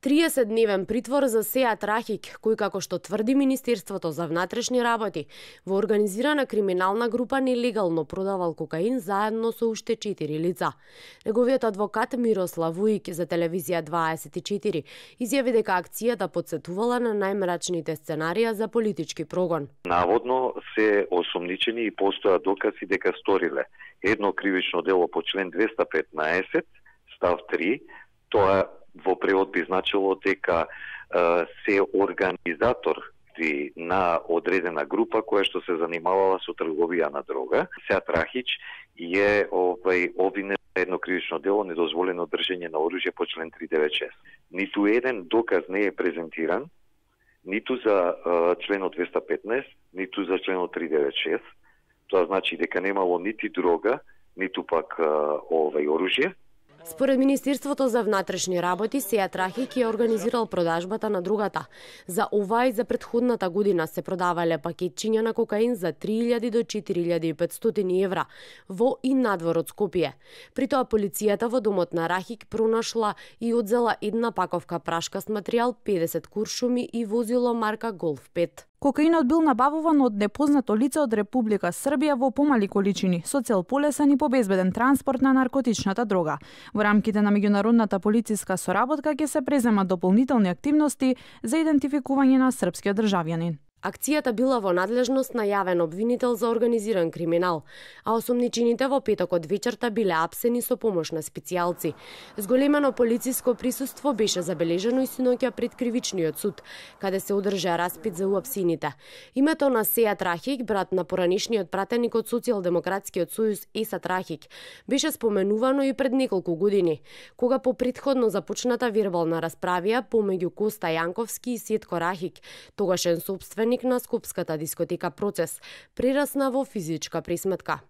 30-дневен притвор за Сеат Рахик, кој како што тврди Министерството за внатрешни работи, во организирана криминална група нелегално продавал кокаин заедно со уште 4 лица. Неговиот адвокат Мирослав Вујик за телевизија 24 изјави дека акцијата потсетувала на најмрачните сценарија за политички прогон. Наводно се осомничени и постојат докази дека сториле едно кривично дело по член 215 став 3, тоа во превод би значило дека се организатор на одредена група која што се занимавала со трговија на дрога. Сеат Рахич е обвинет за едно кривично дело недозволено држење на оружје по член 396. Ниту еден доказ не е презентиран, ниту за членот 215, ниту за членот 396. Тоа значи дека немало нити дрога, ниту пак оружје. Според Министерството за внатрешни работи, Сеат Рахик ја организирал продажбата на дрогата. За ова и за претходната година се продавале пакетчиња на кокаин за 3000 до 4500 евра во и надвор од Скопје. При тоа полицијата во домот на Рахик пронашла и одзела една паковка прашкаст материјал, 50 куршуми и возило марка Голф 5. Кокаинот бил набавуван од непознато лице од Република Србија во помали количини, со цел полесен и побезбеден транспорт на наркотичната дрога. Во рамките на меѓународната полициска соработка ќе се преземат дополнителни активности за идентификување на српскиот државјанин. Акцијата била во надлежност на јавен обвинител за организиран криминал, а осомничените во петокот вечерта биле апсени со помош на специјалци. Зголемено полициско присуство беше забележано и синоќа пред кривичниот суд, каде се одржа распит за уапсените. Името на Сеат Рахик, брат на поранишниот пратеник од Социјалдемократскиот сојуз Есат Рахик, беше споменувано и пред неколку години, кога по претходно започната вербална расправија помеѓу Коста Јанковски и Сетко Рахик, тогашен сопственик на скопската дискотека Процес, прерасна во физичка пресметка.